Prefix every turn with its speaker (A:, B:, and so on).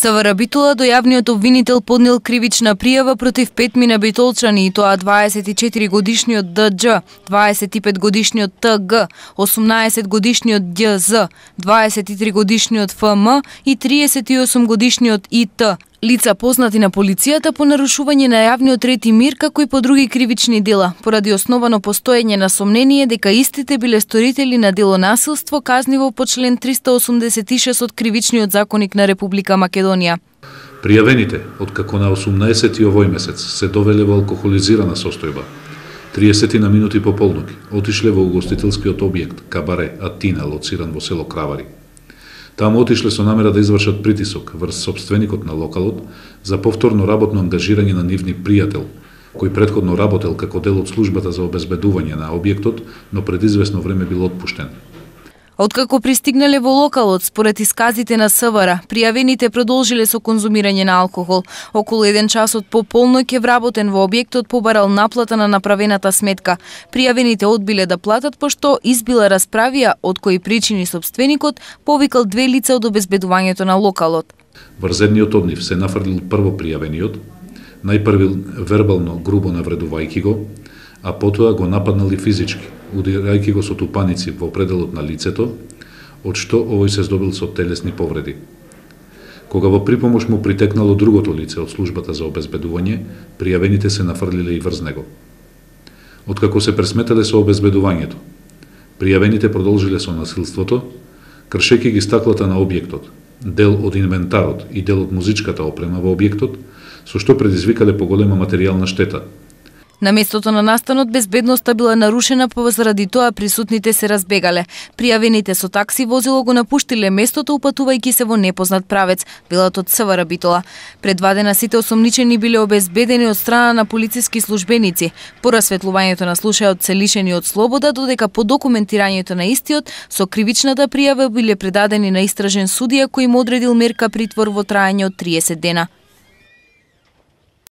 A: СВР Битола до јавниот обвинител поднел кривична пријава против 5 мина битолчани, и тоа 24-годишниот ДД, 25-годишниот ТГ, 18-годишниот ДЗ, 23-годишниот ФМ и 38-годишниот ИТ. Лица познати на полицијата по нарушување на јавниот ред и мир, како и по други кривични дела, поради основано постоење на сомнение дека истите биле сторители на дело насилство, казниво по член 386 од Кривичниот законник на Република Македонија.
B: Пријавените, откако на 18 овој месец се довеле во алкохолизирана состојба, 30 на минути по полноќ отишле во угостителскиот објект Кабаре Атина, лоциран во село Кравари. Таму отишле со намера да извршат притисок врз сопственикот на локалот за повторно работно ангажирање на нивни пријател, кој претходно работел како дел од службата за обезбедување на објектот, но пред известно време бил отпуштен.
A: Откако пристигнале во локалот, според исказите на СВР, пријавените продолжиле со конзумирање на алкохол. Околу 1 часот по полноќ е вработен во објектот побарал наплата на направената сметка. Пријавените одбиле да платат, пошто избила расправија, од кои причини сопственикот повикал 2 лица од обезбедувањето на локалот.
B: Врз едниот од нив се нафрлил прво пријавениот, најпрви вербално грубо навредувајќи го, а потоа го нападнал и физички, удирајќи го со тупаници во пределот на лицето, од што овој се здобил со телесни повреди. Кога во припомош му притекнало другото лице од службата за обезбедување, пријавените се нафрлиле и врз него. Откако се пресметале со обезбедувањето, пријавените продолжиле со насилството, кршејќи ги стаклата на објектот, дел од инвентарот и дел од музичката опрема во објектот, со што предизвикале поголема материјална штета.
A: На местото на настанот безбедноста била нарушена, па заради тоа присутните се разбегале. Пријавените со такси возило го напуштиле местото, упатувајќи се во непознат правец, велат од СВР Битола. Пред 2 дена сите осомничени биле обезбедени од страна на полициски службеници. По расветлувањето на случајот се лишени од слобода, додека по документирањето на истиот со кривичната пријава биле предадени на истражен судија кој им одредил мерка притвор во траење од 30 дена.